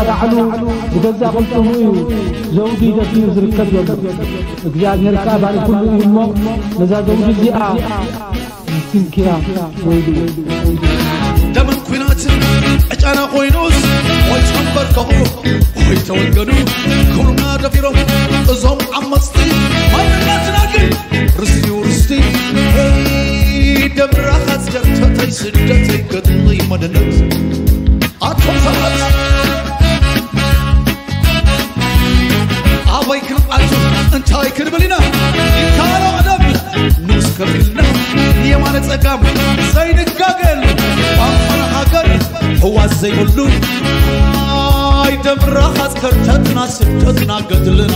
ባዕሉ ብገዛእ ቅልጽሙ እዩ ዘውዲ ደፊኑ ዝርከብ ዘሎ። እግዚኣብሔር ከኣ ባሪ ኩሉ እዩ እሞ፣ ነዛ ዘውዲ እዚኣ ንኪንኪያ ወይሉ። ደምን ኲናትን ዕጫና ኮይኑስ፣ ወይ ተንበርከኹ ወይ ተወገኑ፣ ኩሉና ደፊሮም እዞም ዓመፅቲ ማንነትና ግን ርስቲ ርስቲ። ደምራኻት ጀርተተይ ስደተይ ገድሊ መደነት ኣቶም ሰባት ኣበይ ክንኣቱ እንታይ ክንብል ኢና? ይካሎ ቀደም ንስ ከፊልና የማነ ጸጋም ዘይንጋገል ባንፈራ ሃገር ህዋስ ዘይብሉ ኣይ ደምራኻ ጸርተትና ስደትና ገድልና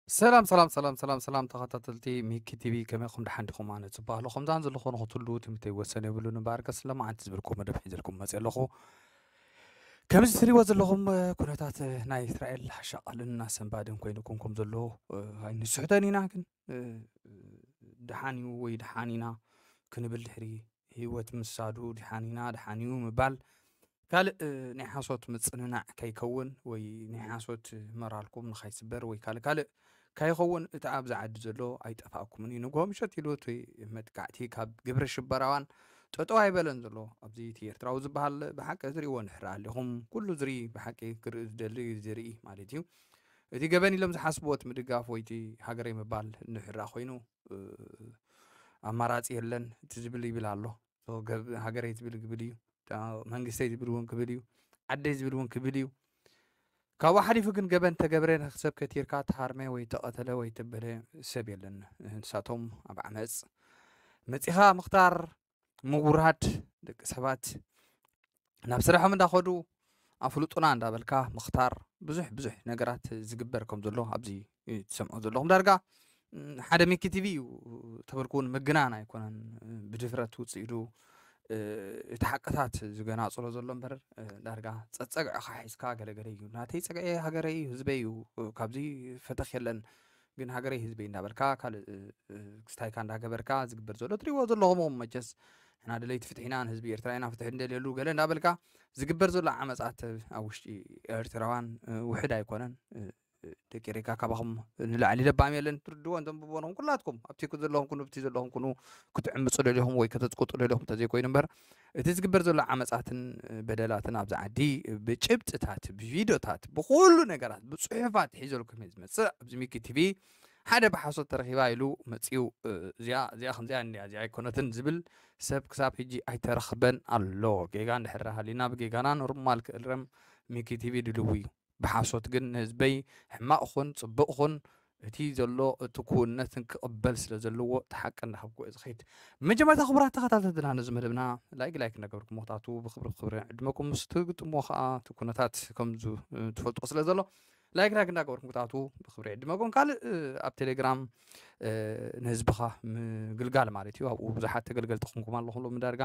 ሰላም ሰላም ሰላም ሰላም ሰላም ተኸታተልቲ ሚኪ ቲቪ፣ ከመይ ኹም ደሓን ዲኹም? ኣነ ጽቡቕ ኣለኹ። ከምዛን ዘለኹ ንኽትሉ ትምኒተይ ወሰን የብሉን እምበኣር፣ ከስ ለማዓንቲ ዝብልኩም መደብ ሒዘልኩም መጽእ ኣለኹ። ከምዚ ትሪእዎ ዘለኹም ኩነታት ናይ እስራኤል ኣሻቓልን ኣሰንባድን ኮይኑ ኩንኩም ዘሎ ኣይንስሕተን ኢና፣ ግን ደሓን እዩ ወይ ደሓን ኢና ክንብል ድሕሪ ህይወት ምሳዱ ደሓን ኢና ደሓን እዩ ምባል ካልእ ናይ ሓሶት ምጽንናዕ ከይከውን ወይ ናይ ሓሶት መራልኩም ንኸይስበር ወይ ካልእ ካልእ ከይኸውን እቲ ኣብዚ ዓዲ ዘሎ ኣይጠፋእኩምን እዩ። ንግሆ ምሸት ኢሉ እቲ መጥቃዕቲ ካብ ግብረ ሽበራውያን ጠጠው ኣይበለን ዘሎ። ኣብዚ እቲ ኤርትራዊ ዝበሃል ብሓቂ ትሪእዎ ንሕር ኣሊኹም። ኩሉ ዝርኢ ብሓቂ ክርኢ ዝደሊ ዝርኢ ማለት እዩ። እቲ ገበን ኢሎም ዝሓስብዎ እቲ ምድጋፍ ወይ እቲ ሃገረይ ምባል ንሕራ ኮይኑ ኣማራፂ የለን እቲ ዝብል ይብል ኣሎ። ሃገረይ ዝብል ክብል እዩ፣ መንግስተይ ዝብል እውን ክብል እዩ፣ ዓደይ ዝብል እውን ክብል እዩ። ካብኡ ሓሊፉ ግን ገበን ተገብረ ንክሰብ ከቲርካ ተሃርመ ወይ ተቐተለ ወይ ተበለ ሰብ የለን። ንሳቶም ኣብ ዓመፅ መፂኻ ምኽታር ምውራድ ደቂ ሰባት ናብ ስራሖም እንዳኸዱ ኣፍልጡና እንዳበልካ ምኽታር ብዙሕ ብዙሕ ነገራት ዝግበር ከም ዘሎ ኣብዚ ትሰምዖ ዘለኹም። ዳርጋ ሓደ ሚኪ ቲቪ እዩ ተበልኩ እውን ምግናን ኣይኮነን። ብድፍረት ውፅኢዱ እቲ ሓቅታት ዝገናፅሎ ዘሎ እምበር ዳርጋ ፀፀግዕኻ ሒዝካ ገለገለ እዩ ናተይ ፀግዐ ሃገረይ እዩ ህዝበይ እዩ ካብዚ ፈተኽ የለን ግን ሃገረይ ህዝበይ እንዳበልካ ካልእ ክስታይካ እንዳገበርካ ዝግበር ዘሎ ትሪእዎ ዘለኹም መቸስ ንሕና ደለይቲ ፍትሒ ኢና ንህዝቢ ኤርትራ ኢና ፍትሒ እንደልየሉ ገለ እንዳበልካ ዝግበር ዘሎ ዓመፃት ኣብ ውሽጢ ኤርትራውያን ውሕድ ኣይኮነን። ደቂ ሬካ ካባኹም ንላዕሊ ለባም የለን። ትርድዎ እንተንብቦ ነኹም ኩላትኩም ኣብቲ ዘለኹም ኩኑ ብቲ ዘለኹም ኩኑ ክትዕምፁ ደሊኹም ወይ ከተፅቁጡ ደሊኹም እንተዘይኮይኑ እምበር እቲ ዝግበር ዘሎ ዓመፃትን በደላትን ኣብዚ ዓዲ ብጭብጥታት ብቪድዮታት ብኩሉ ነገራት ብፅሑፋት ሒዘልኩም እየ ዝመፅእ ኣብዚ ሚኪ ቲቪ ሓደ ብሓሶት ተረኺባ ኢሉ መፅኡ እዚኣ እዚኣ ከምዚኣ እንዲያ እዚኣ ኣይኮነትን ዝብል ሰብ ክሳብ ሕጂ ኣይተረኽበን ኣሎ። ጌጋ እንድሕር ሃሊና ብጌጋና ኖርማል ክእረም ሚኪ ቲቪ ድልው እዩ። ብሓሶት ግን ንህዝበይ ሕማቕ ኹን ፅቡቕ ኹን እቲ ዘሎ እቲ ክውነትን ክቕበል ስለ ዘለዎ እቲ ሓቂ እንዳሃብኩ እየ ዝኸይድ። መጀመርታ ክቡራት ተኸታተልትና ነዚ መደብና ላይክ ላይክ እንዳገበርኩም ምኽታቱ ብክብሪ ክብሪ ዕድመኩም ምስ ትግጥሞ ከዓ እቲ ኩነታት ከም ትፈልጦ ስለ ዘሎ ላይክ ላይክ እንዳገበርኩም ክትኣትዉ ብክብሪ ዕድመኩም። ካልእ ኣብ ቴሌግራም ንህዝብኻ ምግልጋል ማለት እዩ። ኣብኡ ብዙሓት ተገልገልቲ ኹንኩም ኣለኹም ዳርጋ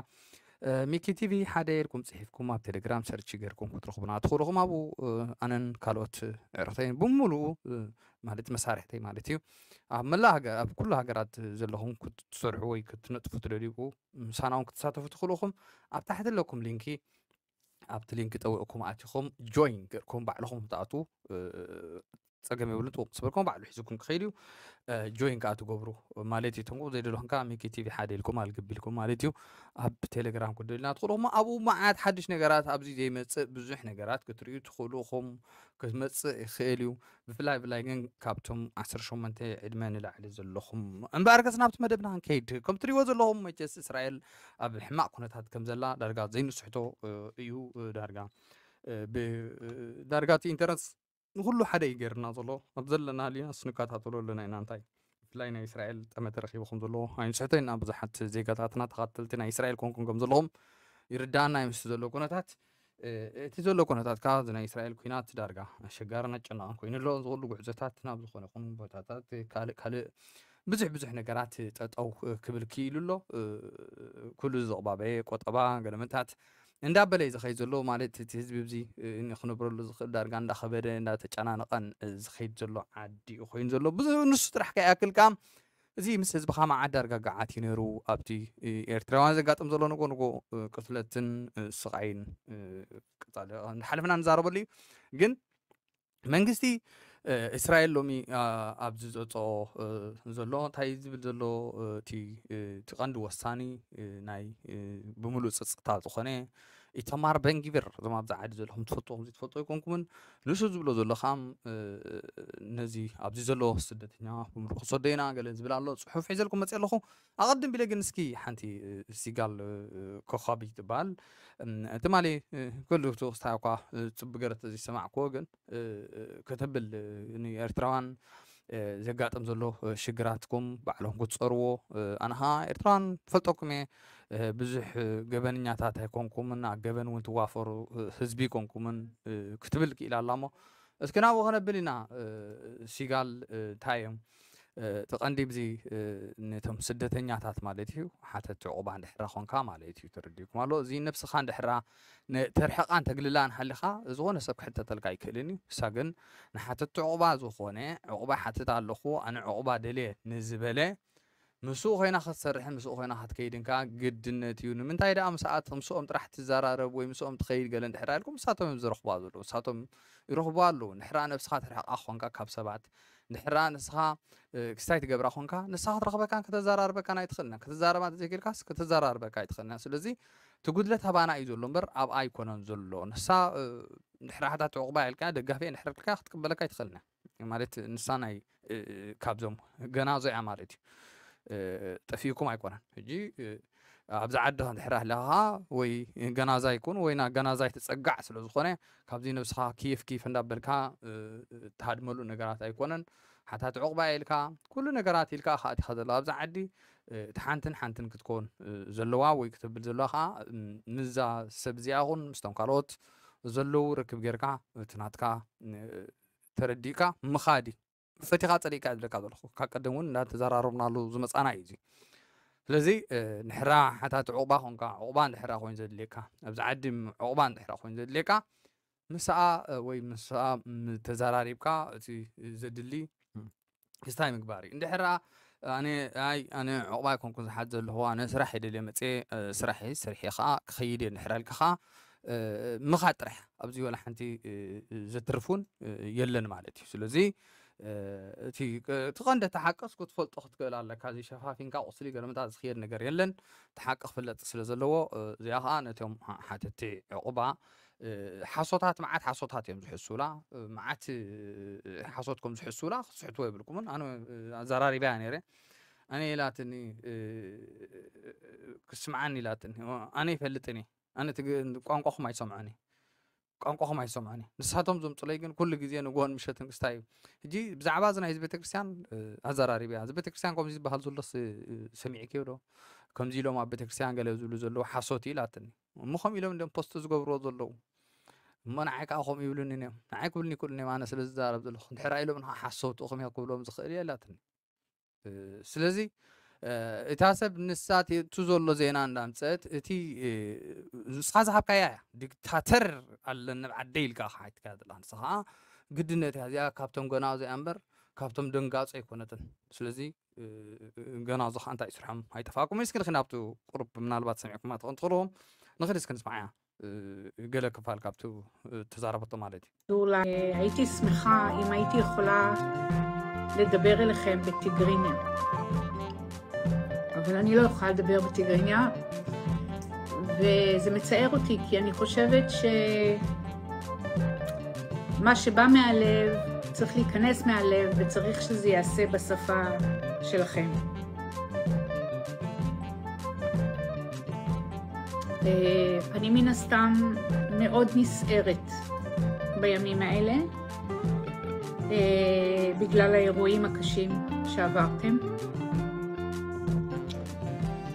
ሚኪ ቲቪ ሓደ ኢልኩም ፅሒፍኩም ኣብ ቴሌግራም ሰርች ገርኩም ክትረኽቡና ትኽእሉ ኢኹም። ኣብኡ ኣነን ካልኦት ዕርክተይን ብምሉኡ ማለት መሳርሕተይ ማለት እዩ ኣብ መላእ ሃገር ኣብ ኩሉ ሃገራት ዘለኹም ክትሰርሑ ወይ ክትነጥፉ ትደልዩ ምሳና እውን ክትሳተፉ ትኽእሉ ኢኹም። ኣብ ታሕቲ ኣለኩም ሊንኪ ኣብቲ ሊንክ ጠውቕኩም ኣቲኹም ጆይን ገርኩም ባዕልኹም ክትኣትዉ ፀገም የብሉን። ጥውቕ ምስ በልኩም ባዕሉ ሒዝኩም ክኸይድ እዩ። ጆይን ከዓ ትገብሩ ማለት እዩ። ትንቁ ዘይደለኹም ከዓ ሚኪ ቲቪ ሓደ ኢልኩም ኣልግብ ኢልኩም ማለት እዩ። ኣብ ቴሌግራም ክደልና ትኽእሉ እሞ ኣብኡ መዓት ሓድሽ ነገራት ኣብዚ ዘይመፅእ ብዙሕ ነገራት ክትርእዩ ትኽእሉ ኢኹም። ክመፅእ ይኽእል እዩ። ብፍላይ ብላይ ግን ካብቶም ዓሰርተ ሸሞንተ ዕድመ ንላዕሊ ዘለኹም እምበኣር ከስ ናብቲ መደብና ክንከይድ ከም ትሪእዎ ዘለኹም መቸስ እስራኤል ኣብ ሕማቕ ኩነታት ከም ዘላ ዳርጋ ዘይንስሕቶ እዩ። ዳርጋ ዳርጋ እቲ ኢንተረንስ ንኩሉ ሓደ እዩ ገይርና ዘሎ ኣብ ዘለና ሊናስ ንከታተሎ ኣለና ኢና እንታይ ብፍላይ ናይ እስራኤል ጠመተ ረኪቡ ከም ዘለዎ ኣይንስሕቶ ኢና። ብዙሓት ዜጋታትና ተኸተልቲ ናይ እስራኤል ኮንኩም ከም ዘለኹም ይርዳእና እዩ ምስ ዘሎ ኩነታት እቲ ዘሎ ኩነታት ከዓ ናይ እስራኤል ኩናት ዳርጋ ኣሸጋርን ኣጨናቕን ኮይኑ ኣሎ። ዝኩሉ ጉዕዞታት ናብ ዝኾነ ይኹን ቦታታት ካልእ ካልእ ብዙሕ ብዙሕ ነገራት ጠጠው ክብል ክኢሉ ኣሎ። ኩሉ ዘቕባበየ ቆጠባ ገለመታት እንዳበለ እዩ ዝኸይድ ዘሎ ማለት እቲ ህዝቢ እዚ ንክነብረሉ ዝኽእል ዳርጋ እንዳኸበደ እንዳተጨናነቐን ዝኸይድ ዘሎ ዓዲ እዩ ኮይኑ ዘሎ። ብዙ ንሱ ጥራሕ ከይኣክል ከዓ እዚ ምስ ህዝብኻ መዓዳ ኣረጋጋዓት እዩ ነይሩ። ኣብቲ ኤርትራውያን ዘጋጥም ዘሎ ንጎ ንጎ ቅትለትን ስቃይን ቀጻሊ እንዳሓለፍና ንዛረበሉ እዩ። ግን መንግስቲ እስራኤል ሎሚ ኣብዚ ዘውፅኦ ዘሎ እንታይ ዝብል ዘሎ እቲ ቀንዲ ወሳኒ ናይ ብምሉእ ፀፅታ ዝኾነ ኢተማር በንጊብር፣ እዞም ኣብዚ ዓዲ ዘለኹም ትፈልጡ ከምዚ ትፈልጡ ኣይኮንኩምን። ንሱ ዝብሎ ዘሎ ከዓ ነዚ ኣብዚ ዘሎ ስደተኛ ብምሉእ ክሰዶ ኢና ገለ ዝብል ኣሎ። ፅሑፍ ሒዘልኩም መፅእ ኣለኹ። ኣቐድም ቢለ ግን እስኪ ሓንቲ ሲጋል ኮኻቢ ትበሃል ትማሊ ክልቱ ክስታይ እኳ ፅቡቅ ገረት ዝሰማዕክዎ ግን ከተብል ንኤርትራውያን ዘጋጥም ዘሎ ሽግራትኩም ባዕልኹም ክትፀርዎ ኣነ ኸዓ ኤርትራውያን ፈልጠኩም እየ። ብዙሕ ገበንኛታት ኣይኮንኩምን፣ ኣብ ገበን እውን ትዋፈሩ ህዝቢ ኣይኮንኩምን ክትብል ክኢላ ኣላ። እሞ እስኪ ናብኡ ከነብል ኢና። ሲጋል እንታይ እዮም እቲ ቀንዲ ብዚ ነቶም ስደተኛታት ማለት እዩ ሓተቲ ዕቑባ እንድሕራ ኾንካ ማለት እዩ። ተረዲእኩም ኣሎ። እዚ ነብስኻ እንድሕራ ተርሕቓን ተግልላን ሃሊኻ ዝኾነ ሰብ ክሕተተልካ ኣይክእልን እዩ። እሳ ግን ንሓተቲ ዕቑባ ዝኾነ ዕቑባ ሓትት ኣለኹ ኣነ ዕቑባ ደልየ ንዝበለ ምስኡ ኮይና ክትሰርሕን ምስኡ ኮይና ክትከይድን ከኣ ግድነት እዩ። ንምንታይ ደኣ ምስኣት ምስኦም ጥራሕ ትዘራረብ ወይ ምስኦም ትኸይድ ገለ እንድሕር ኢልኩም ንሳቶም እዮም ዝረኽቡዋ ዘለዉ። ንሳቶም ይረኽቡዋ ኣለዉ። ንሕራ ነብስኻ ትርሕቓ ኾንካ ካብ ሰባት ንሕራ ንስኻ ክስታይ ትገብራ ኾንካ ንሳ ክትረኽበካን ከተዘራርበካን ኣይትኽእልና። ከተዛረባ ዘይክእልካስ ከተዘራርበካ ኣይትኽእልና። ስለዚ እቲ ጉድለት ኣባና እዩ ዘሎ እምበር ኣብኣ ኣይኮነን ዘሎ። ንሳ ንሕራ ሓታት ዕቑባ ኢልካ ደጋፊ ንሕራ ኢልካ ክትቅበለካ ኣይትኽእልና። ማለት ንሳ ናይ ካብዞም ገናዞ እያ ማለት እዩ። ጠፊእኩም ኣይኮነን። ሕጂ ኣብዚ ዓዲ እንድሕር ኣለኻ ወይ ገናዛይ ኩን ወይ ናብ ገናዛይ ትጸጋዕ ስለ ዝኾነ ካብዚ ነብስኻ ኪፍ ኪፍ እንዳበልካ ትሃድመሉ ነገራት ኣይኮነን። ሓታት ዕቑባ ኢልካ ኩሉ ነገራት ኢልካ ከኣ ኢኻ ዘለኻ ኣብዚ ዓዲ። እቲ ሓንትን ሓንትን ክትኮን ዘለዋ ወይ ክትብል ዘለዋ ከኣ ምዛ ሰብ እዚኣ ኹን ምስቶም ካልኦት ዘለዉ ርክብ ጌርካ እቲ ናትካ ተረዲእካ ምኻድ እዩ። ፈቲኻ ጸሊእካ ዝብለካ ዘለኹ ካብ ቀደም እውን እንዳተዘራረብናሉ ዝመጻና እዩ እዚ። ስለዚ ንሕራ ሓታት ዕቑባ ኾንካ ዕቑባ እንድሕራ ኮይኑ ዘድልየካ ኣብዚ ዓዲ ዕቑባ እንድሕራ ኮይኑ ዘድልየካ ምስኣ ወይ ምስኣ ተዘራሪብካ እቲ ዘድሊ ክስታይ ምግባር እዩ። እንድሕራ ኣነ ኣይ ኣነ ዕቑባ ኣይኮንኩን ዝሓት ዘለኹ ኣነ ስራሕ የደልየ መፅየ ስራሕ ሰሪሐ ከዓ ክኸይድ እየ እንድሕራ ኢልካ ከዓ ምኻድ ጥራሕ ኣብዚ ወላ ሓንቲ ዘትርፉን የለን ማለት እዩ። ስለዚ እቲ እቲ ቀንዲ እቲ ሓቅስ ክትፈልጦ ክትክእል ኣለካ። እዚ ሸፋፊንካ ቁስሊ ገለመታ ዝኽየድ ነገር የለን። እቲ ሓቂ ክፍለጥ ስለ ዘለዎ እዚኣ ከዓ ነቶም ሓተቲ ዕቑባ ሓሶታት መዓት ሓሶታት እዮም ዝሕሱላ። መዓት ሓሶት ከም ዝሕሱላ ክትስሕትዎ የብልኩምን። ኣነ ኣዘራሪባያ ነይረ። ኣነ ኢላትኒ ክስምዓኒ ኢላትኒ። ኣነ ይፈልጥን እየ። ኣነ ቋንቋኹም ኣይሰምዖን እየ። ቋንቋኹም ኣይሰምዖን እየ። ንሳቶም ዘምፅለይ ግን ኩሉ ግዜ ንግሆን ምሸትን ክስታይ እዩ። ሕጂ ብዛዕባ እዚ ናይ እዚ ቤተክርስትያን ኣዘራሪባያ። እዚ ቤተክርስትያን ከምዚ ዝበሃል ዘሎ ሰሚዕክዮ ዶ? ከምዚ ኢሎም ኣብ ቤተክርስትያን ገለ ዝብሉ ዘለዉ ሓሶት እዩ ኢላትኒ። እሞ ከምኡ ኢሎም እንዲም ፖስት ዝገብርዎ ዘለዉ። እሞ ንዓይ ከዓ ከምኡ ይብሉኒ እዮም። ንዓይ ክብሉኒ ይክእሉኒ እዮም። ኣነ ስለ ዝዛረብ ዘለኹ። እንድሕር ኢሎም ንዓ ሓሶት እኹም እዮም ክብሎም ዝኽእል እየ ኢላትኒ። ስለዚ እታ ሰብ ንሳ እቲ ዘሎ ዜና እንዳምፀት እቲ ንስኻ ዝሃብካያ እያ። ዲክታተር ኣለኒ ኣብ ዓደይ ኢልካ ክሓትካ ዘላ ንስኻ ግድነት እያ እዚኣ ካብቶም ገና እዚኣ እምበር ካብቶም ደንጋፆ ኣይኮነትን። ስለዚ ገና እዚ ከዓ እንታይ ስርሖም ኣይጠፋኩም። እስኪ ንክን ኣብቲ ቁሩብ ምናልባት ሰሚዕኩማ ትኾን ትኽእልዎም ንኽድ እስኪ ንስማዓያ። ገለ ክፋል ካብቲ ተዛረበቶ ማለት እዩ። הייתי שמחה אם הייתי יכולה לדבר אליכם בטיגריניה, אבל אני לא יכולה לדבר בטיגריניה, וזה מצער אותי כי אני חושבת שמה שבא מהלב צריך להיכנס מהלב וצריך שזה ייעשה בשפה שלכם. אני מן הסתם מאוד נסערת בימים האלה בגלל האירועים הקשים שעברתם.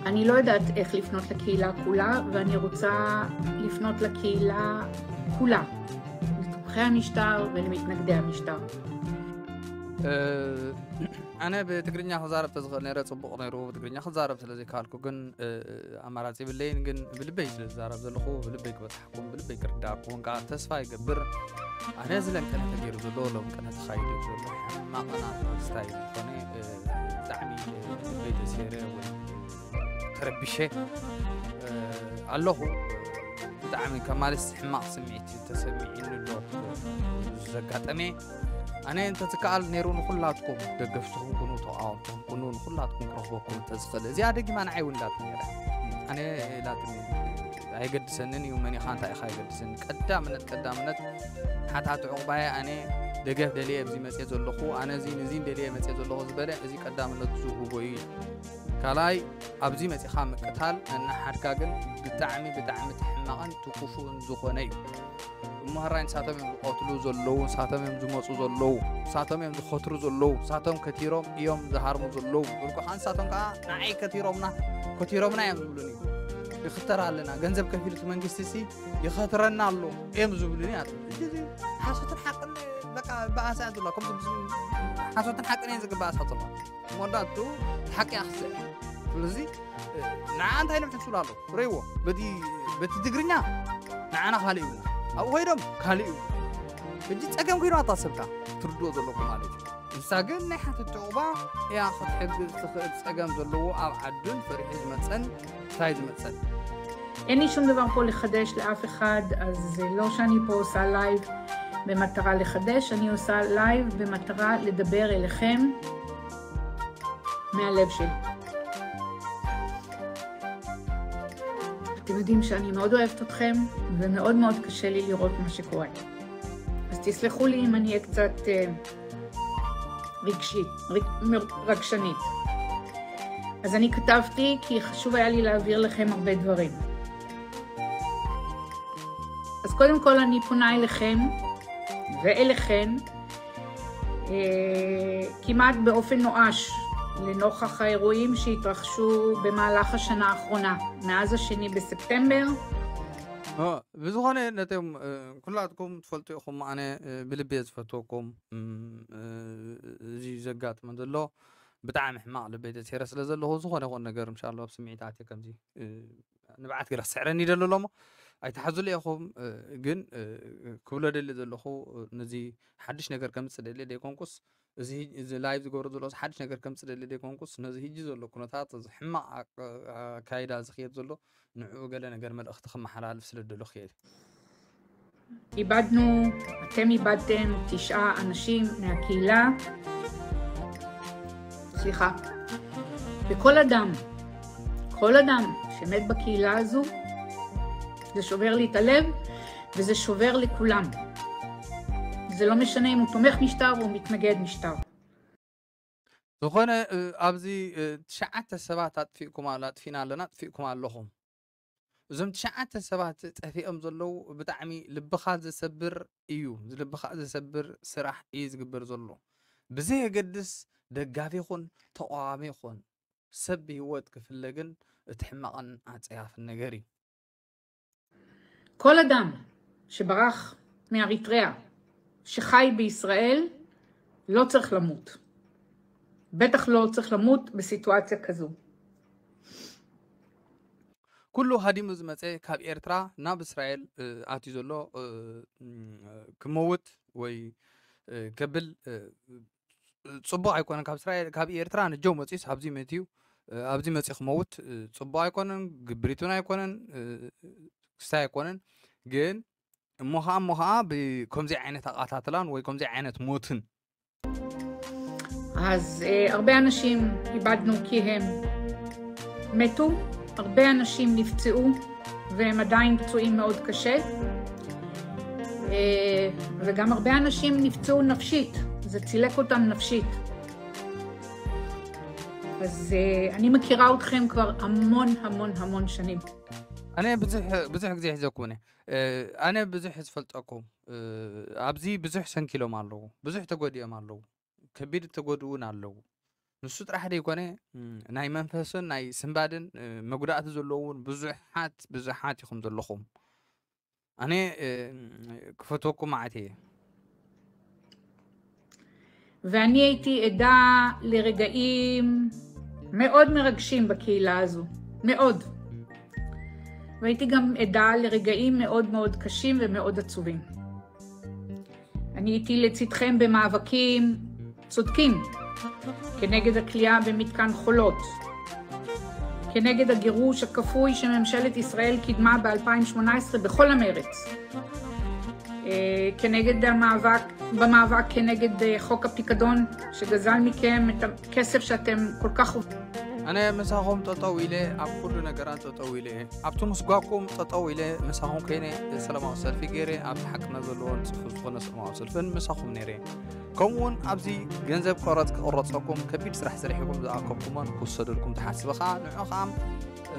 אני לא יודעת איך לפנות לקהילה כולה, ואני רוצה לפנות לקהילה כולה, לתומכי המשטר ולמתנגדי המשטר. እ፣ ኣነ ብትግርኛ ክዛረብ ተዝኽእል ነይረ፣ ጽቡቕ ነይሩ። ብትግርኛ ክዛረብ ስለ ዘይከኣልኩ ግን፣ እ፣ ኣማራጺ የብለይን። ግን ብልበይ ስለ ዝዛረብ ዘለኹ፣ ብልበይ ክበጽሓኩም፣ ብልበይ ክርዳእኩም ከዓ ተስፋ ይገብር። ኣነ እዚ ለምቀነ ተገይሩ ዘሎ፣ ለምቀነ ተኻይዱ ዘሎ ሕማቕና ስታይ ዝኾነ፣ እ፣ ብጣዕሚ፣ እ፣ ልበይ ተሰይረ ወይ ተረቢሸ፣ እ፣ ኣለኹ። ብጣዕሚ ከም ማለት ሕማቕ ስምዒት ተሰሚዒኒ ኣሎ ዘጋጠመ። ኣነ እንተትከኣል ነይሩ ንኹላትኩም ደገፍትኹም ኩኑ፣ ተቃወምትኹም ኩኑ፣ ንኹላትኩም ክረኽበኩም እንተዝኽእል። እዚኣ ደጊማ ንዓይ እውን እንዳት ነይረ። ኣነ ኢላትኒ ኣይገድሰንን እዩ፣ መን ኢኻ እንታይ ኢኻ ኣይገድሰን። ቀዳምነት፣ ቀዳምነት ሓታቲ ዕቑባየ ኣነ ደገፍ ደልየ ኣብዚ መፅየ ዘለኹ፣ ኣነ እዚ ንዚ ደልየ መፅየ ዘለኹ ዝበለ እዚ ቀዳምነት ዝህቦ እዩ። ካልኣይ ኣብዚ መፂኻ ምቅታል ነናሓድካ ግን ብጣዕሚ፣ ብጣዕሚ ትሕማቕን ትኩፉን ዝኾነ እዩ። እሞ ህራይ ንሳቶም እዮም ዝቐትሉ ዘለዉ፣ ንሳቶም እዮም ዝመፁ ዘለዉ፣ ንሳቶም እዮም ዝኸትሩ ዘለዉ፣ ንሳቶም ከቲሮም እዮም ዝሃርሙ ዘለዉ። ዝብሉ ከዓ ንሳቶም ከዓ ንዓይ ከቲሮምና፣ ከቲሮምና እዮም ዝብሉኒ። ይኽተር ኣለና፣ ገንዘብ ከፊሉ እቲ መንግስቲ ሲ ይኸትረና ኣሎ እዮም ዝብሉኒ። ኣት-፣ እዚ፣ እዚ ሓሶትን ሓቅን በቃ በኣሳ እያ ዘለዋ። ከምዚ ብዙ ሓሶትን ሓቅን እየን ዝግበኣሳ ዘለዋ። እሞ እንዳቱ ሓቂ ኣኽስዕ። ስለዚ ንዓ እንታይ ኢሎም ሕስሉ ኣሎ? ረይዎ። በቲ፣ በቲ ትግርኛ ንዓና ካልእ ይብሉና። ኣብኡ ኮይዶም ካልእ ይብሉ። ሕጂ ጸገም ኮይኑ ኣታ ሰብካ ትርድኦ ዘለኩም ማለት እዩ። ንሳ ግን ናይ ሓተት ዕቑባ እያ ክትሕግዝ ትኽእል። ጸገም ዘለዎ ኣብ ዓዱን ፈሪሑ ዝመጸን እንታይ ዝመጸን? אין לי שום דבר פה לחדש לאף אחד, אז זה לא שאני פה עושה לייב במטרה לחדש, אני עושה לייב במטרה לדבר אליכם מהלב שלי. אתם יודעים שאני מאוד אוהבת אתכם, ומאוד מאוד קשה לי לראות מה שקורה. אז תסלחו לי אם אני אהיה קצת אה, רגשית, רג- מר- רגשנית. אז אני כתבתי כי חשוב היה לי להעביר לכם הרבה דברים. אז קודם כל אני פונה אליכם ואליכן אה, כמעט באופן נואש לנוכח האירועים שהתרחשו במהלך השנה האחרונה, מאז השני בספטמבר. እ፣ ብዝኾነ ነቶም እ፣ ኩላትኩም ትፈልጡ ኢኹም፣ ኣነ እ፣ ብልቢ እየ ዝፈትወኩም። እም፣ እ፣ እዚ ዘጋጥመ ዘሎ ብጣዕሚ ሕማቕ ልበይ ተሰይረ ስለ ዘለኹ ዝኾነ ይኹን ነገር እንሻላ ኣብ ስምዒት ኣትየ ከምዚ እ፣ ንብዓት ገለ ክስዕረኒ ይደሊ ኣሎ እሞ ኣይትሓዙሉ ኢኹም። እ፣ ግን እ፣ ክብሎ ደሊ ዘለኹ እ፣ ነዚ ሓድሽ ነገር ከምፅእ ደሊ ደይኮንኩስ እዚ ሂ- እዚ ላይቭ ዝገብሮ ዘሎ ሓድሽ ነገር ከምፅእ ደሊ ደይኮንኩስ ነዚ ህጂ ዘሎ ኩነታት እዚ ሕማቕ ኣቅ- ኣካይዳ ዝኽየድ ዘሎ ንዕኡ ገለ ነገር መልእኽቲ ክመሓላልፍ ስለ ደሎ ክየ איבדנו, אתם איבדתם תשעה אנשים מהקהילה, סליחה, וכל אדם, כל אדם שמת בקהילה הזו, זה שובר לי את הלב וזה שובר לכולם. זה לא משנה אם הוא תומך משטר או מתנגד משטר. ዝኾነ እ፣ ኣብዚ እ፣ ትሽዓተ ሰባት ኣጥፊእኩም ኣላ ኣጥፊእና ኣለና ኣጥፊእኩም ኣለኹም። እዞም ትሽዓተ ሰባት ጠፊኦም ዘለዉ ብጣዕሚ ልብኻ ዘሰብር እዩ። ልብኻ ዘሰብር ስራሕ እዩ ዝግበር ዘሎ። ብዘየገድስ ደጋፊ ይኹን ተቃዋሚ ይኹን ሰብ ብህይወት ክፍለ ግን እቲ ሕማቕን ኣጸያፍን ነገር እዩ። כל אדם שברח מאריתריאה, שחי בישראל, לא צריך למות. בטח לא צריך למות בסיטואציה כזו. ኩሉ ሃዲሙ ዝመፀ ካብ ኤርትራ ናብ እስራኤል እ፣ ኣትዩ ዘሎ እ፣ ም፣ ክመውት ወይ እ፣ ከብል እ፣ ፅቡቕ ኣይኮነን። ካብ እስራኤል ካብ ኤርትራ ንጀው መፂኡስ ኣብዚ መትዩ እ፣ ኣብዚ መፂኡ ክመውት እ፣ ፅቡቕ ኣይኮነን። ግብሪቱን ኣይኮነን እ፣ ክስታይ ኣይኮነን። ግን እሞ ከዓ እሞ ከዓ ብከምዚ ዓይነት ኣቃታትላን ወይ ከምዚ ዓይነት ሞትን אז אה, הרבה אנשים איבדנו כי הם מתו, הרבה אנשים נפצעו והם עדיין פצועים מאוד קשה, אה, וגם הרבה אנשים נפצעו נפשית, זה צילק אותם נפשית. אז אה, אני מכירה אתכם כבר המון המון המון שנים. ኣነ ብዙሕ ብዙሕ ግዜ ሒዘኩም እየ እ፣ ኣነ ብዙሕ ዝፈልጠኩም እ፣ ኣብዚ ብዙሕ ሰንኪሎም ኣለዉ፣ ብዙሕ ተጎዲኦም ኣለዉ፣ ከቢድ ተጎድኡ እውን ኣለዉ። ንሱ ጥራሕ ደይኮነ ም፣ ናይ መንፈስን ናይ ስንባድን እ፣ መጉዳእቲ ዘለዉ እውን ብዙሓት ብዙሓት ኢኹም ዘለኹም። ኣነ እ፣ ክፈትወኩም ማዓት እየ። ואני הייתי עדה לרגעים מאוד מרגשים בקהילה הזו, מאוד. והייתי גם עדה לרגעים מאוד מאוד קשים ומאוד עצובים. אני הייתי לצדכם במאבקים צודקים כנגד הכליאה במתקן חולות, כנגד הגירוש הכפוי שממשלת ישראל קידמה ב-אלפיים ושמונה עשרה בכל המרץ, אה, כנגד המאבק, במאבק כנגד אה, חוק הפיקדון שגזל מכם את הכסף שאתם כל כך עובדים. ኣነ ምሳኹም ጠጠው ኢለ ኣብ ኩሉ ነገራት ጠጠው ኢለ እየ። ኣብቲ ምስጓኩም ጠጠው ኢለ ምሳኹም ኮይነ ሰላማዊ ሰልፊ ገይረ ኣብቲ ሓቅነት ዘለዎን ፅፉፍ ዝኾነ ሰላማዊ ሰልፍን ምሳኹም ነይረ። ከምኡ እውን ኣብዚ ገንዘብ ቀረፅ ክቕረፀኩም ከቢድ ስራሕ ሰሪሕኩም ዝኣከብኩሞን ክውሰደልኩም ትሓስብ ኸዓ ንዑ ኸዓ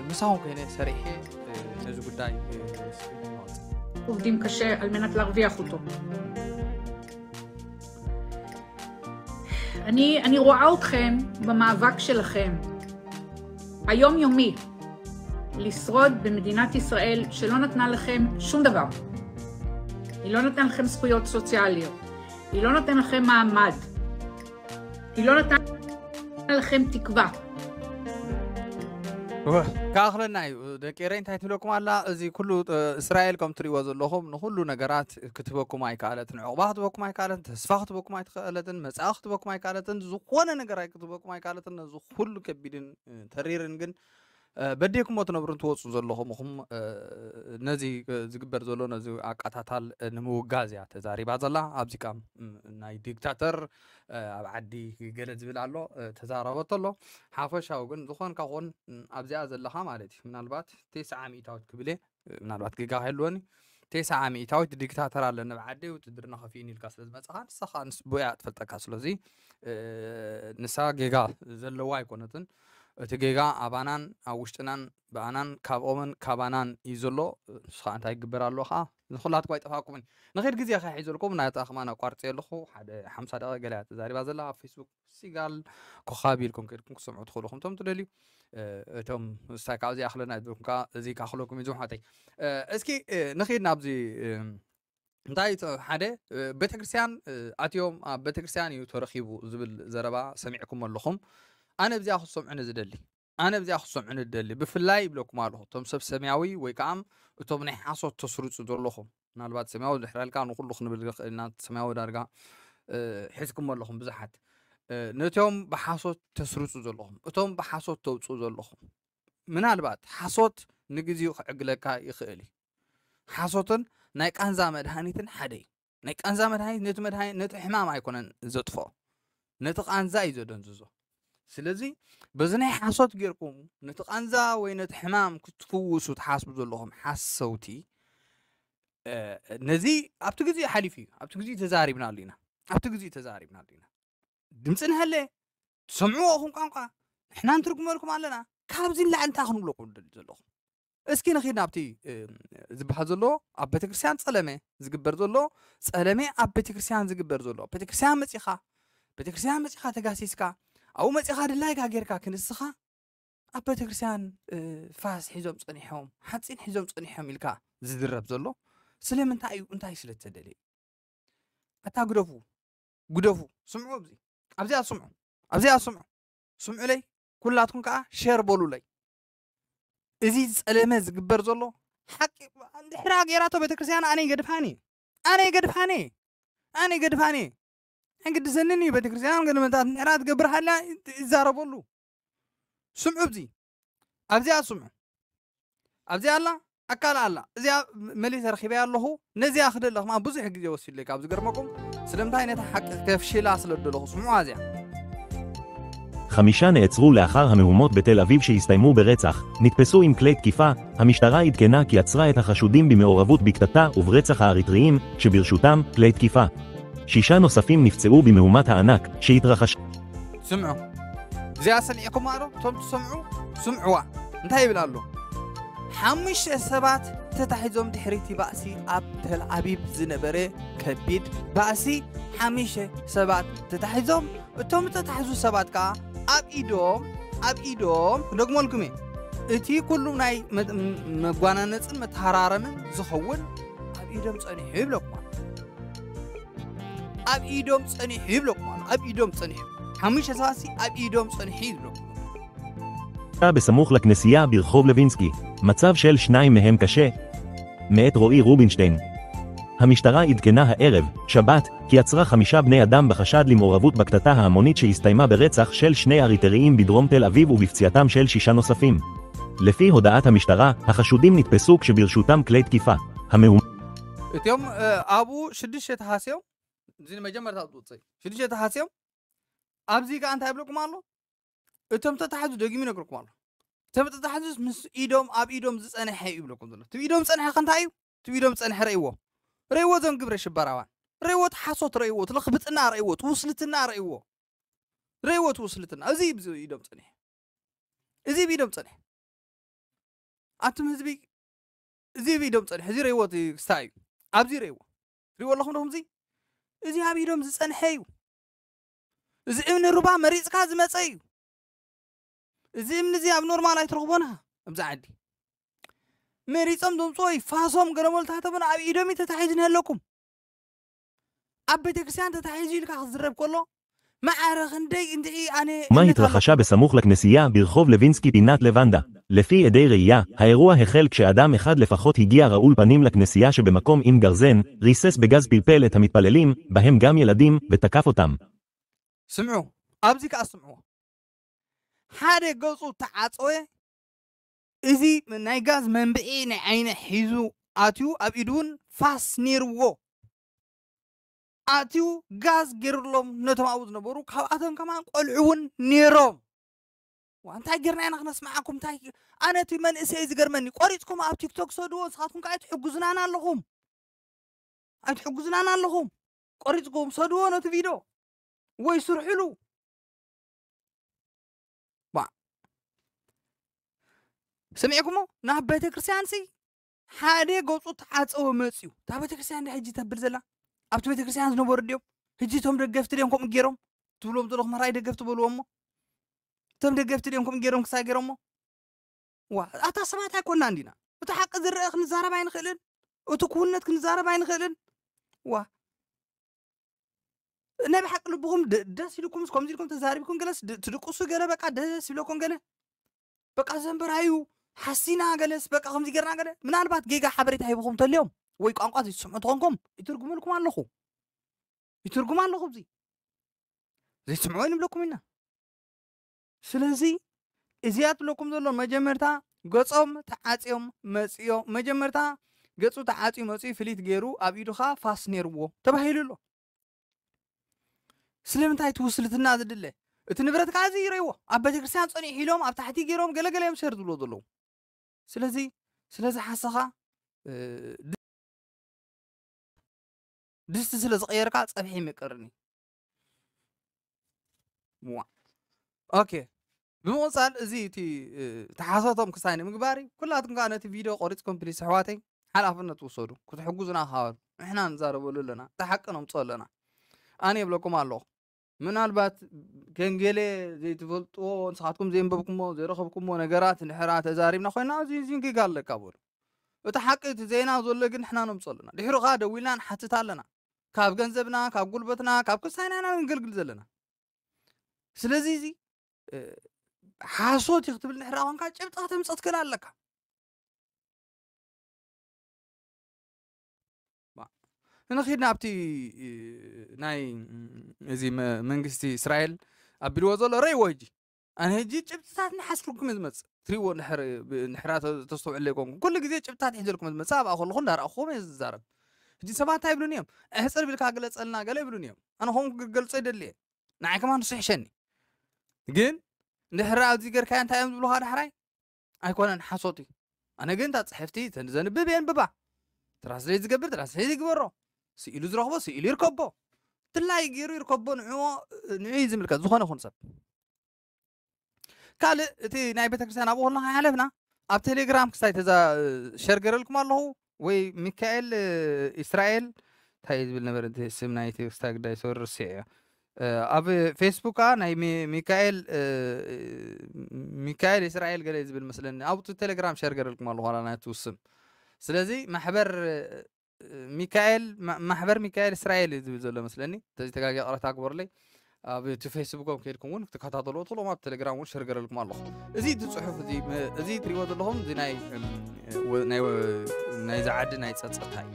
ምሳኹም ኮይነ ሰሪሐ ነዚ ጉዳይ עובדים קשה על מנת להרוויח אותו. אני, אני רואה אתכם במאבק שלכם, היומיומי, לשרוד במדינת ישראל שלא נתנה לכם שום דבר. היא לא נתנה לכם זכויות סוציאליות, היא לא נתנה לכם מעמד, היא לא נתנה לכם תקווה. ክኣኽለና እዩ ደቂ ኤረይ። እንታይ ትብለኩም ኣላ? እዚ ኩሉ እስራኤል ከም ትሪእዎ ዘለኹም ንኩሉ ነገራት ክትበኩም ኣይከኣለትን፣ ዕቑባ ክትበኩም ኣይከኣለትን፣ ተስፋ ክትበኩም ኣይትኽእለትን፣ መጻኢ ክትበኩም ኣይከኣለትን፣ ዝኾነ ነገር ኣይክትበኩም ኣይከኣለትን። ነዚ ኩሉ ከቢድን ተሪርን ግን በዴኩሞ ትነብሩ እንትወፁ ዘለኹም ኹም ነዚ ዝግበር ዘሎ ነዚ ኣቃታታል ንምውጋዝ እያ ተዛሪባ ዘላ። ኣብዚ ቃ ናይ ዲክታተር ኣብ ዓዲ ገለ ዝብል ኣሎ ተዛረበቶ ኣሎ። ሓፈሻዊ ግን ዝኾን ካኾን ኣብዚኣ ዘለኻ ማለት እዩ ምናልባት ተስዓ ሚእታዊት ክብል እየ፣ ምናልባት ጌጋ ከይህልወኒ፣ ተስዓ ሚእታዊት ዲክታተር ኣለኒ ኣብ ዓዲ፣ ውትድርና ከፊእኒ ኢልካ ስለ ዝመጻኻ ንሳ ከዓ ንስ ብያ ትፈልጠካ። ስለዚ ንሳ ጌጋ ዘለዋ ኣይኮነትን። እቲ ጌጋ ኣባናን ኣብ ውሽጥናን ብኣናን ካብኦምን ካባናን እዩ ዘሎ። ንሱ ከዓ እንታይ ይግበር ኣለዎ ከዓ ንኩላትኩም ኣይጠፋኩምን። ንኸይድ ግዜ ከሒዘልኩም ናታ ከማን ኣቋርፀ ኣለኹ። ሓደ ሓምሳ ደቂቃ ገለ እያ ተዛሪባ ዘላ ኣብ ፌስቡክ ሲጋል ኮኻቢ ኢልኩም ከድኩም ክሰምዑ ትኽእሉ ኹም ቶም ትደልዩ። እቶም ስታይ ካብዚ ኣኽለና ዝበልኩም ከዓ እዚ ካኽለኩም እዩ ዝምሓተይ። እስኪ ንኸይድ ናብዚ እንታይ ሓደ ቤተክርስትያን ኣትዮም ኣብ ቤተክርስትያን እዩ ተረኺቡ ዝብል ዘረባ ሰሚዕኩም ኣለኹም። ኣነ ብዚኣ ክሰምዑ ንዝደሊ ኣነ ብዚኣ ክሰምዑ ንደሊ ብፍላይ ይብለኩም ኣለኹ እቶም ሰብ ሰማያዊ ወይ ከዓ እቶም ናይ ሓሶት ተስርፁ ዘለኹም። ምናልባት ሰማያዊ ድሕራልካ ንኩሉ ክንብል ንኽእል ኢና። ሰማያዊ ዳርጋ ሒዝኩም ኣለኹም ብዙሓት። ነቶም ብሓሶት ተስርፁ ዘለኹም እቶም ብሓሶት ተውፅኡ ዘለኹም ምናልባት ሓሶት ንግዚኡ ክዕግለካ ይኽእል እዩ። ሓሶትን ናይ ቃንዛ መድሃኒትን ሓደ እዩ። ናይ ቃንዛ መድሃኒት ነቲ መድሃኒት ነቲ ሕማም ኣይኮነን ዘጥፍኦ፣ ነቲ ቃንዛ እዩ ዘደንዝዞ። ስለዚ በዚ ናይ ሓሶት ጌርኩም ነቲ ቃንዛ ወይ ነቲ ሕማም ክትፍውሱ ትሓስቡ ዘለኹም ሓሰውቲ፣ ነዚ ኣብቲ ግዜ ሓሊፉ እዩ። ኣብቲ ግዜ ተዛሪብናሉ ኢና። ኣብቲ ግዜ ተዛሪብናሉ ኢና። ድምፂ ንሃለ ትሰምዕዎ ኹም ቋንቋ ንሕና ንትርጉመልኩም ኣለና። ካብዚ ንላዕሊ እንታይ ክንብለኩም ንደሊ ዘለኹም? እስኪ ንኺድ ናብቲ ዝበሃል ዘሎ ኣብ ቤተክርስትያን ጸለመ ዝግበር ዘሎ ጸለመ ኣብ ቤተክርስትያን ዝግበር ዘሎ ቤተክርስትያን መጺኻ ቤተክርስትያን መጺኻ ተጋሲስካ ኣብኡ መጺኻ ድላይካ ጌርካ ክንስኻ ኣብ ቤተክርስትያን ፋስ ሒዞም ጸኒሖም ሓፂን ሒዞም ጸኒሖም ኢልካ ዝዝረብ ዘሎ ስለምንታይ እዩ? እንታይ ስለ ተደለየ? ኣታ ግደፉ ግደፉ። ስምዑ ኣብዚ ኣብዚኣ ስምዑ ኣብዚኣ ስምዑ ስምዑለይ። ኩላትኩም ከዓ ሸር በሉለይ። እዚ ዝፀለመ ዝግበር ዘሎ ሓቂ እንድሕራ ገይራቶ ቤተክርስትያን ኣነ ይገድፋኒ ኣነ ይገድፋኒ ኣነ ይገድፋኒ ሕግድሰንን እዩ። ቤተክርስትያን ገለመታት እንድሕራ ትገብር ሃላ ይዛረበሉ። ስምዑ ኣብዚ ኣብዚኣ ስምዑ ኣብዚኣ ኣላ ኣካል ኣላ እዚኣ መሊሰ ረኺበያ ኣለኹ። ነዚኣ ክደለ ከማ ብዙሕ ግዜ ወሲድለይ ካብ ዝገርመኩም ስለምንታይ ነታ ሓቂ ከፍሽላ ስለ ደለኹ ስምዑ ኣዚኣ חמישה נעצרו לאחר המהומות בתל אביב שהסתיימו ברצח, נתפסו עם כלי תקיפה, המשטרה עדכנה כי עצרה את החשודים במעורבות בקטטה וברצח האריתריים שברשותם כלי תקיפה. שישה נוספים נפצעו במהומת הענק שהתרחשה. ስምዑ እዚኣ ሰሚዕኩማ ዶ? እቶም ትሰምዑ ስምዕዋ እንታይ ይብል ኣሎ? ሓሙሽተ ሰባት ተታሒዞም ድሕሪቲ ባእሲ ኣብ ተል ኣቢብ ዝነበረ ከቢድ ባእሲ ሓሙሽተ ሰባት ተታሒዞም እቶም ዝተታሕዙ ሰባት ከዓ ኣብ ኢዶም ኣብ ኢዶም ክደግመልኩም እየ እቲ ኩሉ ናይ መጓናነፅን መተሃራረምን ዝኸውን ኣብ ኢዶም ፀኒሑ ይብለኩም ኣሎ። ኣብ ኢዶም ጸኒሑ ይብለኩም ኣሎ። ኣብ ኢዶም ጸኒሑ። ሓሙሽተ ሰባት ሲ ኣብ ኢዶም ጸኒሑ ይብለኩም። בסמוך לכנסייה ברחוב לוינסקי, מצב של שניים מהם קשה. מאת רועי רובינשטיין. המשטרה עדכנה הערב, שבת, כי עצרה חמישה בני אדם בחשד למעורבות בקטטה ההמונית שהסתיימה ברצח של שני אריתריאים בדרום תל אביב ובפציעתם של שישה נוספים. לפי הודעת המשטרה, החשודים נתפסו כשברשותם כלי תקיפה. המהומה እቲኦም ኣብኡ ሽዱሽተ ተሃስዮም እዚ መጀመርታ ዝውፅእ ሽዱሽተ ተሃስዮም ኣብዚ ከዓ እንታይ ይብለኩም ኣሎ? እቶም ተታሕዙ ደጊሙ ይነግረኩም ኣሎ። እቶም ተታሕዙስ ምስ ኢዶም ኣብ ኢዶም ዝፀንሐ እዩ ይብለኩም ዘሎ። እቲ ኢዶም ዝፀንሐ ከ እንታይ እዩ? እቲ ኢዶም ዝፀንሐ ረእይዎ፣ ረእይዎ እዞም ግብረ ሽበራዋን ረእይዎ፣ እቲ ሓሶት ረእይዎ፣ እቲ ለኽብጥና ረእይዎ፣ እቲ ውስልትና ረእይዎ፣ ረእይዎ እቲ ውስልትና። እዚ እዩ ኢዶም ፀንሐ፣ እዚ እዩ ኢዶም ፀንሐ። ኣቱም ህዝቢ እዚ ኣብ ኢዶም ፀንሐ፣ እዚ ረእይዎ እቲ ክስታይ እዩ። ኣብዚ ረእይዎ፣ ሪእዎ ኣለኹም ዶ ከምዚ? እዚ ኣብ ኢዶም ዝፀንሐ እዩ። እዚ እምኒ ሩባ መሪፅካ ዝመፀ እዩ። እዚ እምኒ እዚ ኣብ ኖርማል ኣይትረኽቦና ኣብዚ ዓዲ። መሪፆም ዘምፅዎ ይፋሶም ገለመልታተምን ኣብ ኢዶም እዩ ተታሒዙ ነለኩም። ኣብ ቤተክርስትያን ተታሒዙ ኢልካ ክዝረብ ከሎ ማዕረ ክንደይ እንድዒ ኣነ ما እምነት ኣለኩም። התרחשה בסמוך לכנסייה ברחוב לוינסקי פינת לבנדה. לפי עדי ראייה, האירוע החל כשאדם אחד לפחות הגיע רעול פנים לכנסייה שבמקום עם גרזן, ריסס בגז פלפל את המתפללים, בהם גם ילדים, ותקף אותם. ስምዑ፣ ኣብዚ ከዓ ስምዑ። ሓደ ገፁ ተዓፀወ፣ እዚ ናይ ጋዝ መንብዒ ናይ ዓይነ ሒዙ ኣትዩ፣ ኣብ ኢዱ እውን ፋስ ነይርዎ። ኣትዩ ጋዝ ገይሩሎም ነቶም ኣብኡ ዝነበሩ፣ ካብኣቶም ከማን ቆልዑ እውን ነይሮም። ዋ፣ እንታይ ጌርና ኢና ክነስምዓኩም? እንታይ ኣነ እቲ መንእሰይ ዝገርመኒ፣ ቆሪፅኩም ኣብ ቲክቶክ ሰድዎ፣ ንስኻትኩም ከዓ ኣይትሕጉዝናን ኣለኹም፣ ኣይትሕጉዝናን ኣለኹም። ቆሪፅኩም ሰድዎ ነቲ ቪድዮ ወይ ስርሕሉ። ዋ፣ ስሚዕኩሞ? ናብ ቤተክርስትያን ሲ ሓደ ገፁ ተዓፀወ መፅዩ። እታ ቤተክርስትያን ዳ ሕጂ ተብል ዘላ? ኣብቲ ቤተክርስትያን ዝነበሩ ድዮም? ሕጂ እቶም ደገፍቲ ድዮም ከምኡ ገይሮም? ትብሎም ዘለኹም ሕራይ ደገፍቲ በልዎ እሞ። እቶም ደገፍቲ ድዮም ከምኡ ገይሮም ክሳይ ገይሮሞ? ዋ፣ ኣታ ሰባት ኣይኮንና እንዲና። እቲ ሓቂ ዝረአ ክንዛረብ ኣይንኽእልን? እቲ ክውነት ክንዛረብ ኣይንኽእልን? ዋ፣ ናይ ብሓቂ ልብኹም ደ- ደስ ኢልኩም ከምዚ ኢልኩም ተዛሪብኩም ገለስ ድ- ትድቅሱ ገለ በቃ ደስ ይብለኩም ገለ በቃ ዘንበራዩ ሓሲና ገለስ በቃ ከምዚ ገርና ገለ ምናልባት ጌጋ ሓበሬታ ሂብኹም ተልዮም ወይ ቋንቋ ዘይትስምዑ ተኾንኩም ይትርጉመልኩም ኣለኹ ይትርጉም ኣለኹ እዚ ዘይትስምዑ ንብለኩም ኢና ስለዚ እዚኣ ትብለኩም ዘሎ መጀመርታ ገጾም ተዓጽዮም መጽዮ መጀመርታ ገጹ ተዓጽዩ መጽዩ ፍሊት ገይሩ ኣብ ኢዱ ኸዓ ፋስ ነይርዎ ተባሂሉ ኣሎ ስለምንታይ እቲ ውስልትና ዝድለ እቲ ንብረት ከዓ እዚ ይረይዎ ኣብ ቤተክርስትያን ፀኒሑ ኢሎም ኣብ ታሕቲ ገይሮም ገለገለ እዮም ሸር ዝብሎ ዘለዉ ስለዚ ስለዚ ሓሰኻ ድስቲ ስለ ዝቐየርካ ፀብሒ ይምቅርኒ ዋ ኦኬ ብምቕፃል እዚ እቲ ተሓሰቶም ክሳይ ንምግባር እዩ ኩላትኩም ከዓ ነቲ ቪድዮ ቆሪፅኩም ፕሊስ ኣሕዋተይ ሓላፍነት ውሰዱ ክትሕጉዙና ክባሉ ንሕና ንዛረበሉ ኣለና እቲ ሓቂ ነምፅኦ ኣለና ኣነ ይብለኩም ኣለኹ ምናልባት ከንገለ ዘይትፈልጥዎ ንስኻትኩም ዘየንበብኩሞ ዘይረኸብኩሞ ነገራት እንድሕራ ተዛሪብና ኮይና እዚ ዚንግጋ ኣለካ በሉ እቲ ሓቂ እቲ ዜና ዘሎ ግን ንሕና ነምፅኦ ኣለና ድሕሩ ከዓ ደዊልና ንሓትት ኣለና ካብ ገንዘብና ካብ ጉልበትና ካብ ክሳይና ኢና ንገልግል ዘለና ስለዚ እዚ ሓሶት እዩ ክትብል ንሕራ ኮንካ ጭብጢ ከተምፅእ ትክእል ኣለካ ንኺድ ናብቲ ናይ እዚ መንግስቲ እስራኤል ኣቢልዎ ዘሎ ረይዎ ሕጂ ኣነ ሕጂ ጭብጥታት ንሓስልኩም ዝመፅእ ትሪእዎ ንሕራ ተስተውዕለ ይኮንኩም ኩሉ ግዜ ጭብጥታት ሒዘልኩም ዝመፅእ ኣብኣ ከለኹ እንዳረኣኹም እየ ዝዛረብ ሕጂ ሰባት እንታይ ይብሉን እዮም ኣሕፅር ቢልካ ግለፀልና ገለ ይብሉን እዮም ኣነ ከምኡ ክገልፆ ይደሊ እየ ንዓይ ከማን ንሱ ይሕሸኒ ግን እንድሕር ኣብዚ ገርካዮ እንታይ እዮም ዝብሉካ ዳሕራይ ኣይኮነን ሓሶት እዩ ኣነ ግን እታ ፅሕፍቲ ዘንብብ የንብባ ትራንስሌት ዝገብር ትራንስሌት ይግበሮ ስኢሉ ዝረኽቦ ስኢሉ ይርከቦ ትላይ ገይሩ ይርከቦ ንዕዎ ንዑ ዝምልከት ዝኾነ ኹን ሰብ ካልእ እቲ ናይ ቤተክርስትያን ኣብኡ ከለና ሓለፍና ኣብ ቴሌግራም ክስታይ ተዛ ሸር ገረልኩም ኣለኹ ወይ ሚካኤል እስራኤል እንታይ ዝብል ነበር እቲ ስም ናይ እቲ ክስታይ ግዳይ ሰው ርስዕ እዮ ኣብ ፌስቡክ ከዓ ናይ ሚካኤል ሚካኤል እስራኤል ገለ ዝብል መስለኒ ኣብቲ ቴሌግራም ሸር ገረልኩም ኣለኹ ዋላ ናይቲ ስም ስለዚ ማሕበር ሚካኤል፣ ማ-፣ ማሕበር ሚካኤል እስራኤል እዩ ዝብል ዘሎ መስለኒ። እንተዘይተጋግየ ይቕረታ ግበሩለይ። ኣብ እቲ ፌስቡኮም ከይድኩም እውን ክትከታተልዎ ትኽእሉ፣ ኣብ ቴሌግራም እውን ሸር ገረልኩም ኣለኹ። እዚ፣ እቲ ጽሑፍ እዚ፣ ም-፣ እዚ ትሪእዎ ዘለኹም፣ እዚ ናይ፣ እም፣ ወ-፣ ናይ ወ-፣ ናይዚ ዓዲ ናይ ጸጥታ እዩ።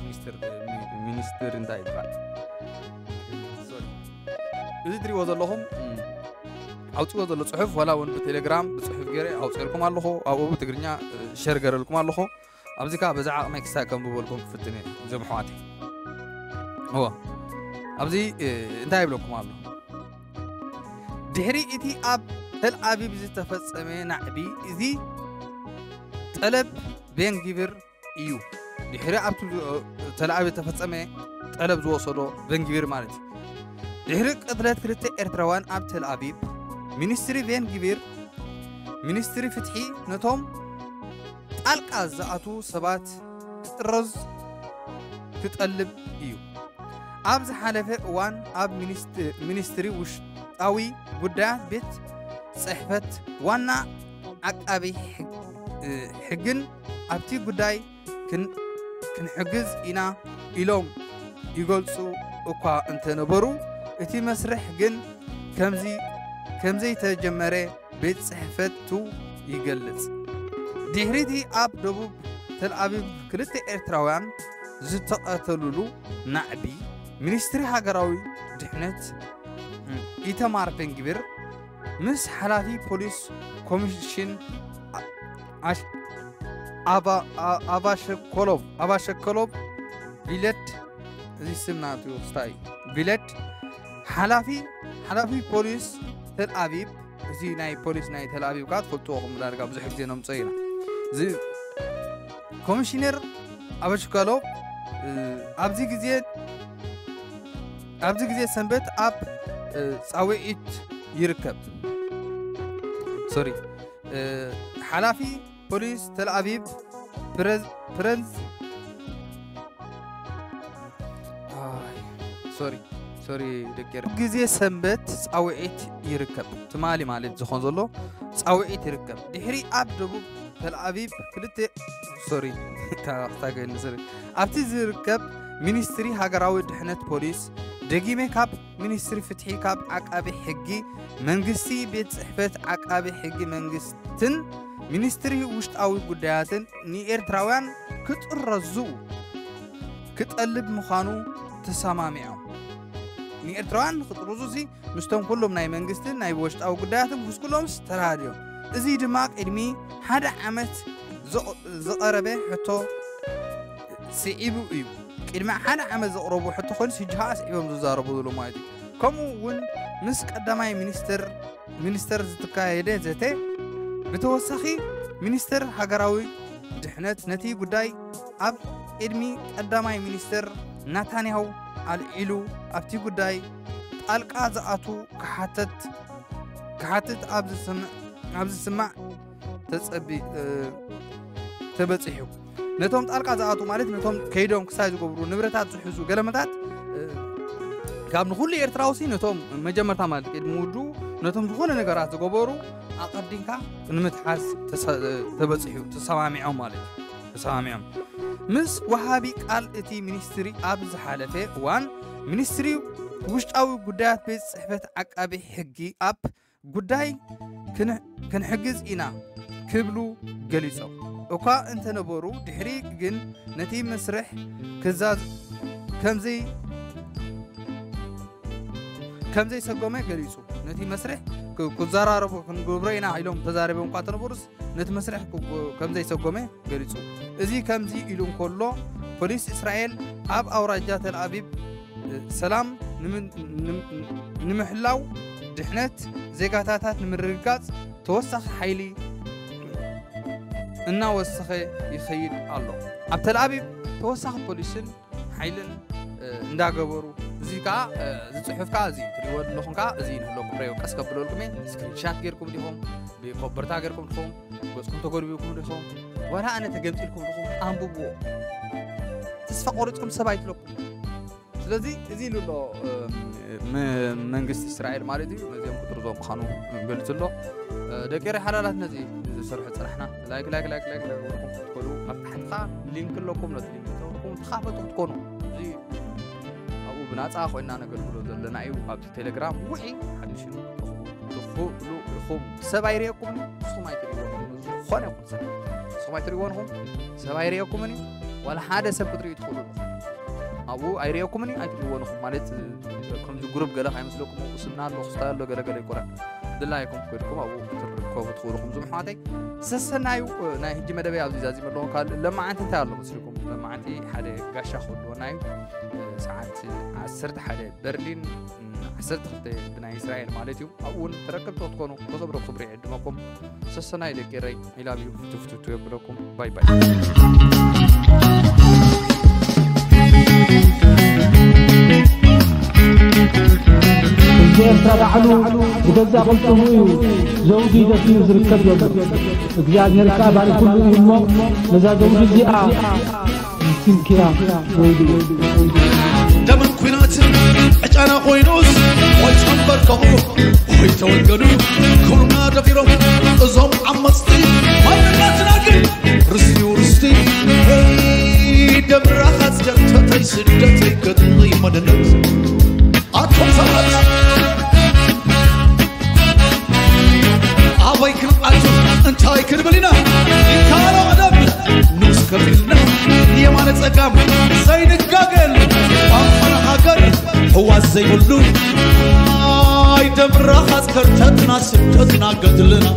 ሚኒስትር፣ ሚ-፣ ሚኒስትር እንታይ ይበሃል? ሶሪ። እዚ ትሪእዎ ዘለኹም፣ እም፣ ኣውፅዎ ዘሎ ጽሑፍ፣ ዋላ እውን ብቴሌግራም ብጽሑፍ ገይረ ኣውፅኤልኩም ኣለኹ። ኣብኡ ብትግርኛ፣ እ፣ ሸር ገረልኩም ኣለኹ። ኣብዚ ከኣ በዛ ዓቕመይ ክሳብ ከንብበልኩም ክፍትን እየ፣ እዞም ኣሕዋተይ። እወ፣ ኣብዚ፣ እ፣ እንታይ ይብለኩም ኣሎ? ድሕሪ እቲ ኣብ ተል ኣቪቭ ዝተፈጸመ ናዕቢ፣ እዚ ጠለብ ቤን ግቪር እዩ። ድሕሪ ኣብቲ ዝ-፣ ተል ኣቪቭ ዝተፈጸመ ጠለብ ዝወሰዶ ቤን ግቪር ማለት እዩ። ድሕሪ ቅትለት ክልተ ኤርትራውያን ኣብ ተል ኣቪቭ፣ ሚኒስትሪ ቤን ግቪር፣ ሚኒስትሪ ፍትሒ ነቶም ጣልቃ ዝኣትዉ ሰባት ክጥረዝ ክጠልብ እዩ። ኣብ ዝሓለፈ እዋን ኣብ ሚኒስት-፣ ሚኒስትሪ ውሽጣዊ ጉዳያት ቤት ጽሕፈት ዋና ዓቃቢ ሕግ-፣ እ፣ ሕግን ኣብቲ ጉዳይ ክን-፣ ክንሕግዝ ኢና ኢሎም ይገልጹ እኳ እንተነበሩ፣ እቲ መስርሕ ግን ከምዚ-፣ ከምዘይተጀመረ ቤት ጽሕፈቱ ይገልጽ። ድሕሪቲ ኣብ ደቡብ ተል ኣቪቭ ክልተ ኤርትራውያን ዝተቐተሉሉ ናዕቢ፣ ሚኒስትሪ ሃገራዊ ድሕነት ኢተማር ቤንግቪር ምስ ሓላፊ ፖሊስ ኮሚሽን ኣ-፣ ኣሽ-፣ ኣቫ-፣ ኣ-፣ ኣቫሸኮሎቭ፣ ኣቫሸኮሎቭ ቪለድ፣ እዚ ስም ናቱ ክስታይ ቪለድ፣ ሓላፊ፣ ሓላፊ ፖሊስ ተል ኣቪቭ፣ እዚ ናይ ፖሊስ ናይ ተል ኣቪቭ ከኣ ትፈልጥዎ ኢኹም፣ ዳርጋ ብዙሕ ግዜ ነምጽኦ ኢና። እዚ ኮሚሽነር ኣቫሸኮሎቭ፣ እ፣ ኣብዚ ግዜ፣ ኣብዚ ግዜ ሰንበት ኣብ፣ እ፣ ጻውዒት ይርከብ። ሶሪ፣ እ፣ ሓላፊ ፖሊስ ተል ኣቪቭ ፕረዝ-፣ ፕረንዝ-፣ ኣይ፣ ሶሪ፣ ሶሪ፣ ደቂ ኤረ-፣ ግዜ ሰንበት ጻውዒት ይርከብ። ትማሊ ማለት ዝኾን ዘሎ ጻውዒት ይርከብ። ድሕሪ ኣብ ደቡብ ተል ኣቪቭ ክልተ፣ ሶሪ፣ ታ-፣ ታገኒ፣ ሶሪ። ኣብቲ ዝርከብ ሚኒስትሪ ሃገራዊ ድሕነት ፖሊስ፣ ደጊመ ካብ ሚኒስትሪ ፍትሒ፣ ካብ ዓቃቢ ሕጊ መንግስቲ፣ ቤት ጽሕፈት ዓቃቢ ሕጊ መንግስትን ሚኒስትሪ ውሽጣዊ ጉዳያትን ንኤርትራውያን ክጥረዙ ክጠልብ ምዃኑ ተሰማሚዖም። ንኤርትራውያን ክጥርዙ እዚ ምስቶም ኩሎም ናይ መንግስትን ናይ ውሽጣዊ ጉዳያትን ምስ ኩሎምስ ተራድዮም። እዚ ድማ ቅድሚ ሓደ ዓመት ዘቕ-፣ ዝቐረበ ሕቶ ስዒቡ እዩ። ቅድሚ ሓደ ዓመት ዘቕረቡ ሕቶ ኮይኑ፣ ሕጂ ኸኣ ስዒቦም ዝዛረቡ ዘለዉ ማለት እዩ። ከምኡ እውን ምስ ቀዳማይ ሚኒስትር፣ ሚኒስተር ዝተካየደ ዘተ፣ ብተወሳኺ ሚኒስተር ሃገራዊ ድሕነት ነቲ ጉዳይ ኣብ ቅድሚ ቀዳማይ ሚኒስተር ናታንያሁ ኣልዒሉ፣ ኣብቲ ጉዳይ ጣልቃ ዝኣቱ ክሓተት፣ ክሓትት ኣብ ዝስምዕ፣ ኣብ ዝስማዕ ተጸቢ-፣ እ፣ ተበጺሑ። ነቶም ጣልቃ ዝኣቱ ማለት ነቶም ከይዶም ክሳይ ዝገብሩ፣ ንብረታት ዝሕዙ ገለመታት፣ እ፣ ካብ ንኹሉ ኤርትራውሲ ነቶም መጀመርታ ማለት ቅድሚ ውዱ ነቶም ዝኾነ ነገራት ዝገበሩ ኣቐዲምካ ንምትሓዝ ተሰ-፣ ተበጺሑ፣ ተሰማሚዖም ማለት እዩ። ተሰማሚዖም። ምስ ወሃቢ ቃል እቲ ሚኒስትሪ ኣብ ዝሓለፈ እዋን፣ ሚኒስትሪ ውሽጣዊ ጉዳያት ቤት ጽሕፈት ዓቃቢ ሕጊ ኣብ ጉዳይ ክን-፣ ክንሕግዝ ኢና ክብሉ ገሊጾም እኳ እንተነበሩ፣ ድሕሪ ግን ነቲ መስርሕ ክዛዝ-፣ ከምዘይ-፣ ከምዘይሰጎመ ገሊጹ። ነቲ መስርሕ ክ-፣ ክዘራረቡ ክንገብሮ ኢና ኢሎም ተዛሪቦም እኳ እንተነበሩስ፣ ነቲ መስርሕ ክ-፣ ከምዘይሰጎመ ገሊጹ። እዚ ከምዚ ኢሉ እንከሎ፣ ፖሊስ እስራኤል ኣብ ኣውራጃ ተል ኣቪቭ ሰላም ንም-፣ ንም-፣ ንምሕላው፣ ድሕነት ዜጋታታት ንምርግጋጽ ተወሳኺ ሓይሊ እናወሰኸ ይኸይድ ኣሎ። ኣብ ተል ኣቪቭ ተወሳኺ ፖሊስን ሓይልን፣ እ፣ እንዳገበሩ፣ እዚ ከኣ፣ እ፣ እዚ ጽሑፍ ከኣ እዚ ትሪእዎ ዘለኹም ከኣ እዚ ንህለኩም ረዮ ቀስ ከብለልኩም እየ። ስክሪንሻት ጌርኩም ዲኹም? ብኮበርታ ጌርኩም ዲኹም? ገጽኩም ተጎልቢብኩም ዲኹም? ዋላ ኣነ ተገምጢልኩም ዲኹም? ኣንብብዎ። ተስፋ ቆሪጽኩም ሰብ ኣይትለኩም። ስለዚ እዚ ኢሉ ኣሎ፣ እ፣ መ-፣ መንግስቲ እስራኤል ማለት እዩ። ነዚኦም ክጥርዞም ምዃኑ ገሊጹ ኣሎ። እ፣ ደቂ ኤረይ ሓላላት ነዚ ዝሰርሑ ጽናሕና ላይክ፣ ላይክ፣ ላይክ፣ ላይክ፣ ላይክ ገበርኩም ክትከዱ ኣብ ታሕቲ ከኣ ሊንክ ኣለኩም። ነቲ ሊንክ ተወርኩም ተኻፈቱ ክትኮኑ። እዚ ኣብኡ ብናፃ ኮይና ነገልግሎ ዘለና እዩ። ኣብዚ ቴሌግራም ውዒ ሓድሽ እዩ። ትኽእሉ ኢኹም። ሰብ ኣይርእየኩምን፣ ንስኹም ኣይትርእይዎን ኢኹም። ዝኾነ ይኹን ሰብ ንስኹም ኣይትርእይዎን ኢኹም። ሰብ ኣይርእየኩምን እዩ። ዋላ ሓደ ሰብ ክትርእዩ ትኽእሉ ኢኹም። ኣብኡ ኣይርእየኩምን እዩ፣ ኣይትርእይዎን ኢኹም። ማለት ከምዚ ግሩፕ ገለ ካይመስለኩም፣ ኣብኡ ስምና ኣሎ፣ ክስታይ ኣሎ፣ ገለ ገለ ይኮነ። ድላይኩም ኮይድኩም ኣብኡ ክትርከቡ ትኽእሉ ኢኹም። ዝም ኣሕዋተይ፣ ሰሰናዩ ናይ ሕጂ መደበይ ኣብዚ ዛዚመ ኣለኹ። ካልእ ለማዓንቲ እንታይ ኣሎ መስልኩም? ለማዓንቲ ሓደ ጋሻ ክህልወና እዩ። ሰዓት ዓሰርተ ሓደ በርሊን፣ ዓሰርተ ክልተ ብናይ እስራኤል ማለት እዩ። ኣብኡ እውን ተረከብቲ ክትኮኑ ክብሪ ክብሪ ይዕድመኩም። ሰሰናይ ደቂ ኤረይ፣ I love you፣ ፍቱ ፍቱ የብለኩም። ባይ ባይ። ህዝቢ ኤርትራ ባዕሉ ብገዛእ ቅልጽሙ እዩ ዘውዲ ደፊኡ ዝርከብ ዘሎ። እግዚኣብሔር ከኣ ባሪኹሉ እዩ እሞ፣ ነዛ ዘውዲ እዚኣ ስንክያ ወይዲ። ደምን ኲናትን ዕጫና ኮይኑስ፣ ወይ ተንበርከኹ ወይ ተወገዱ። ክብሩና ደፊሮም እዞም ዓመፅቲ፣ ማንነትና ግን ርስቲው ርስቲ። ሄይ ደም ራኻት ደርተተይ ስደተይ ገድለይ መደነት ኣቶም ሰባት ኣበይ ክንኣቱ እንታይ ክንብል ኢና? ይካሎ ቀደም ንስ ከፊልና የማነ ጸጋም ዘይንጋገል ኣፈና ሃገር ህዋስ ዘይብሉ። ኣይ ደም ራኻት ከርተትና ስደትና ገድልና